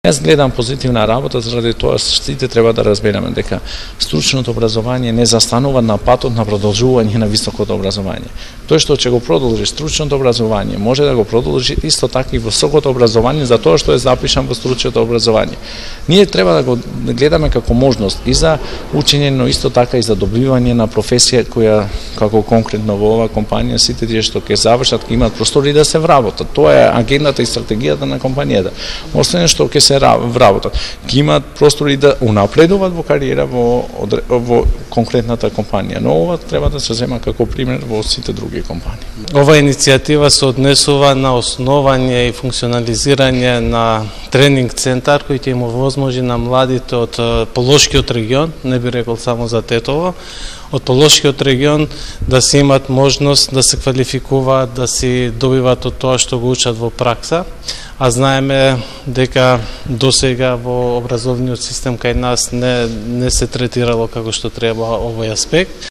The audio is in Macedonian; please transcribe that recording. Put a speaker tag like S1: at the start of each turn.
S1: Јас гледам позитивна работа, заради тоа сите треба да разбереме дека стручното образование не застанува на патот на продолжување на високото образование. Тој што ќе го продолжи стручното образование, може да го продолжи исто така и високото образование за тоа што е запишан во стручното образование. Ние треба да го гледаме како можност и за учење, но исто така и за добивање на професија која, како конкретно во оваа компанија, сите тие што ќе завршат, ќе имаат простори да се вработат. Тоа е агендата и стратегијата на компанијата. Освен што ќе се вработат, ќе имаат простори да унапредуваат во кариера во конкретната компанија. Но ова треба да се зема како пример во сите други компании.
S2: Ова иницијатива се однесува на основање и функционализирање на тренинг центар кој ќе им овозможи на младите од Полошкиот регион, не би рекол само за Тетово, од Полошкиот регион да се имат можност да се квалификуваат, да си добиват од тоа што го учат во пракса. А знаеме дека досега во образовниот систем кај нас не се третирало како што треба овој аспект.